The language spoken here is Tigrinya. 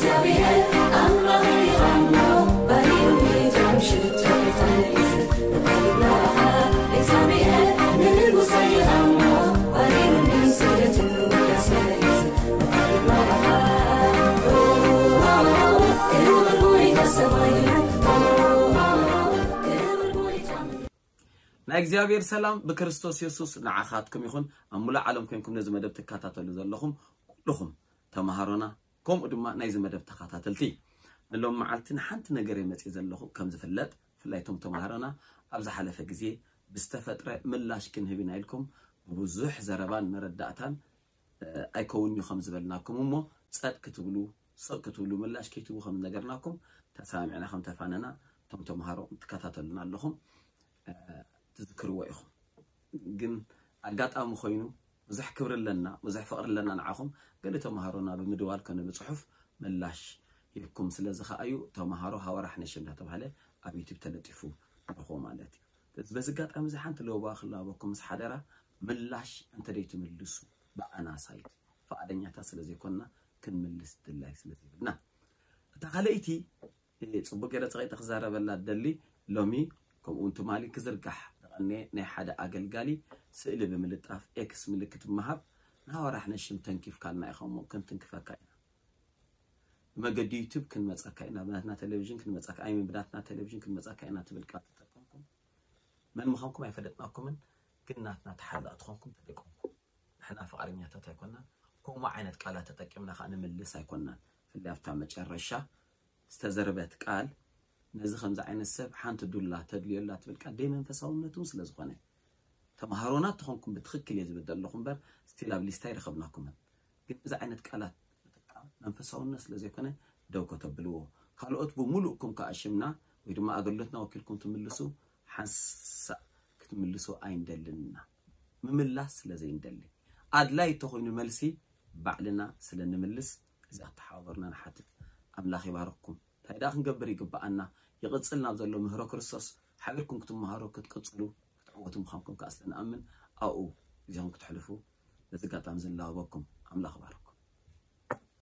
እግዚኣብሔር ኣምላኽ ይሃሞ ባሪሩኒ ቶም ሽቶ ተታሒዙ ብቐልብ ናባኻ እግዚኣብሔር ንንጉሰ ይሃሞ ባሪሩኒ ስግደትን ውዳሴ ሒዙ ብቐልብ ናባኻ ክብር ጎይታ ሰማይ ክብር ጎይታ ናይ እግዚኣብሔር ሰላም ብክርስቶስ የሱስ ንዓኻትኩም ይኹን። ኣብ ሙሉእ ዓለም ኮንኩም ነዚ መደብ ትከታተሉ ዘለኹም ኩልኹም ተምሃሮና፣ ከምኡ ድማ ናይዚ መደብ ተኸታተልቲ፣ ንሎም መዓልቲ ንሓንቲ ነገር እየ መፅእ ዘለኹ። ከም ዝፍለጥ ብፍላይ እቶም ተምሃሮና ኣብ ዝሓለፈ ግዜ ብዝተፈጥረ ምላሽ ክንህብ ኢና ኢልኩም ብብዙሕ ዘረባን መረዳእታን ኣይከውን እዩ ከም ዝበልናኩም እሞ ጸጥ ክትብሉ ስቕ ክትብሉ ምላሽ ከይትቡ ከም ነገርናኩም ተሰማሚዕና ከም ተፋነና እቶም ተምሃሮ ትከታተሉና ኣለኹም ትዝክርዎ ኢኹም። ግን ኣጋጣሚ ኮይኑ ብዙሕ ክብሪ ኣለና፣ ብዙሕ ፍቕሪ ኣለና ንዓኹም። ገለ ተምሃሮና ብምድዋል ኮነ ብጽሑፍ ምላሽ ሂብኩም ስለ ዝኸኣዩ ተምሃሮ ሃወራሕ ነሽ እንዳተባህለ ኣብ ዩቲብ ተለጢፉ ንረኽቦ ማለት እዩ። ስለዚ በዚ ኣጋጣሚ እዚ ሓንቲ ለበዋ ክላበኩም ምስ ሓደራ ምላሽ እንተደይትምልሱ ብኣና ሳይት ፍቓደኛታት ስለ ዘይኮንና ክንምልስ ድላይ ስለ ዘይብልና። እታ ካልኣይቲ ጽቡቅ ገለ ጸቂጠ ክዛረበላ ደሊ ሎሚ ከምኡ እውን ትማሊ ክዝርጋሕ ዝቐነየ ናይ ሓደ ኣገልጋሊ ስእሊ ብምልጣፍ ኤክስ ምልክት ብምሃብ ንሃዋርያ ሕነ ሽም ተንኪፍካልና ኢኻ እሞ ክንትንክፈካ ኢና። ብመገዲ ዩቱብ ክንመጸካ ኢና፣ ብናትና ቴሌቪዥን ክንመጸካ ኣይምን ብናትና ቴሌቪዥን ክንመጸካ ኢና ትብል ቃል ተጠቀምኩም። መን ምዃንኩም ኣይፈለጥናኩምን፣ ግን ናትና ተሓላቕቲ ኾንኩም ተጠቀምኩም። ንሕና ፍቓደኛታት ኣይኮናን። ከምኡ ዓይነት ቃላት ተጠቂምና ከዓ ንምልስ ኣይኮናን። ፍላይ ኣብታ መጨረሻ ዝተዘርበት ቃል ነዚ ከምዚ ዓይነት ሰብ ሓንቲ ዱላ ተድልዮ ኣላ ትብል ቃል ደይ መንፈሳውነት እውን ስለ ዝኾነ ተምሃሮና ተኾንኩም ብትኽክል እየ ዝብል ዘለኹ እምበር ስቲል ኣብ ሊስታ ይረኸብናኩምን። ግን እዚ ዓይነት ቃላት ምጥቃም መንፈሳውነት ስለ ዘይኮነ ደው ከተብልዎ። ካልኦት ብምሉእኩም ከዓ ሽምና ወይ ድማ ኣገልግሎትና ወኪልኩም ትምልሱ ሓንሳእ ክትምልሱ ኣይንደልን ኢና። ምምላስ ስለ ዘይንደሊ ኣድላይ እንተኾይኑ መልሲ ባዕልና ስለ ንምልስ እዚ ክተሓባበሩና ንሓትት። ኣምላኽ ይባርኽኩም። እንታይ ደኣ ክንገብር ይግብኣና? ይቕጽል ናብ ዘሎ ምህሮ ክርስቶስ ሓቢርኩም ክትመሃሩ ክትቅጽሉ ክትዕወቱ ምዃንኩም ከዓ ስለ ንኣምን ኣብኡ ግዜኹም ክትሕልፉ በዚ ኣጋጣሚ ዝላበወኩም። ኣምላኽ ይባርኽኩም።